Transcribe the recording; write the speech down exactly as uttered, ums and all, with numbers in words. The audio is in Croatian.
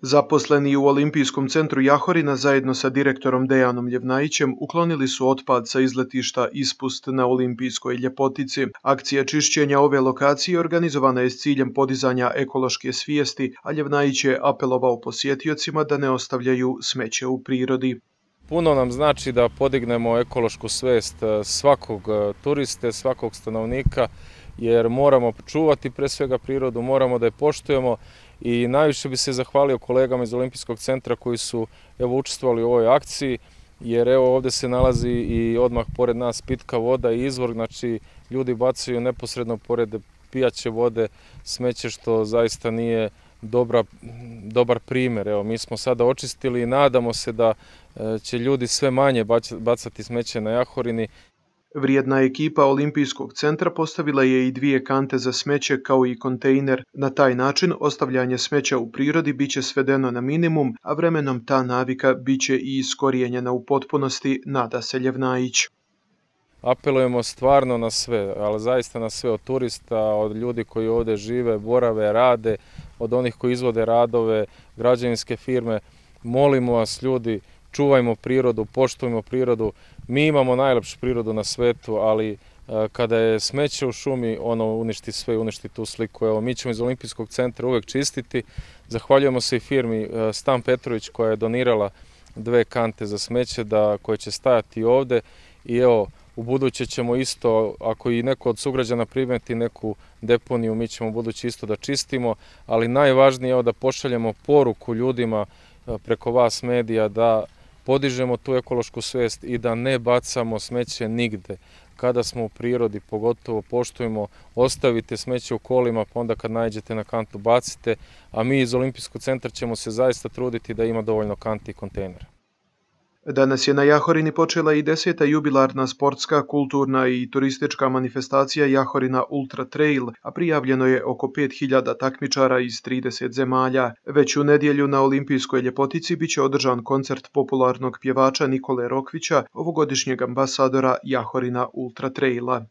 Zaposleni u Olimpijskom centru Jahorina zajedno sa direktorom Dejanom Ljevnajićem uklonili su otpad sa izletišta Ispust na Olimpijskoj Ljepotici. Akcija čišćenja ove lokacije organizovana je s ciljem podizanja ekološke svijesti, a Ljevnajić je apelovao posjetiocima da ne ostavljaju smeće u prirodi. Puno nam znači da podignemo ekološku svijest svakog turiste, svakog stanovnika, jer moramo čuvati pre svega prirodu, moramo da je poštujemo i najviše bi se zahvalio kolegama iz Olimpijskog centra koji su evo učestvovali u ovoj akciji, jer evo ovdje se nalazi i odmah pored nas pitka voda i izvor, znači ljudi bacaju neposredno pored pijaće vode smeće, što zaista nije dobra, dobar primjer. Evo, mi smo sada očistili i nadamo se da će ljudi sve manje bacati smeće na Jahorini. Vrijedna ekipa Olimpijskog centra postavila je i dvije kante za smeće kao i kontejner. Na taj način ostavljanje smeća u prirodi biće svedeno na minimum, a vremenom ta navika biće i iskorijenjena u potpunosti, nada se Ljevnajić. Apelujemo stvarno na sve, ali zaista na sve, od turista, od ljudi koji ovdje žive, borave, rade, od onih koji izvode radove, građevinske firme. Molimo vas ljudi, čuvajmo prirodu, poštujmo prirodu. Mi imamo najlepšu prirodu na svetu, ali kada je smeće u šumi, ono uništi sve, uništi tu sliku. Evo, mi ćemo iz Olimpijskog centra uvek čistiti. Zahvaljujemo se i firmi Stan Petrović koja je donirala dve kante za smeće da, koje će stajati ovde. I evo, u buduće ćemo isto, ako i neko od sugrađana primeti neku deponiju, mi ćemo u buduće isto da čistimo, ali najvažnije je da pošaljemo poruku ljudima preko vas medija da podižemo tu ekološku svijest i da ne bacamo smeće nigde. Kada smo u prirodi, pogotovo poštujemo, ostavite smeće u kolima, pa onda kad nađete na kantu bacite, a mi iz Olimpijskog centra ćemo se zaista truditi da ima dovoljno kanti i kontejnera. Danas je na Jahorini počela i deseta jubilarna sportska, kulturna i turistička manifestacija Jahorina Ultra Trail, a prijavljeno je oko pet hiljada takmičara iz trideset zemalja. Već u nedjelju na Olimpijskoj Ljepotici biće održan koncert popularnog pjevača Nikole Rokvića, ovogodišnjeg ambasadora Jahorina Ultra Traila.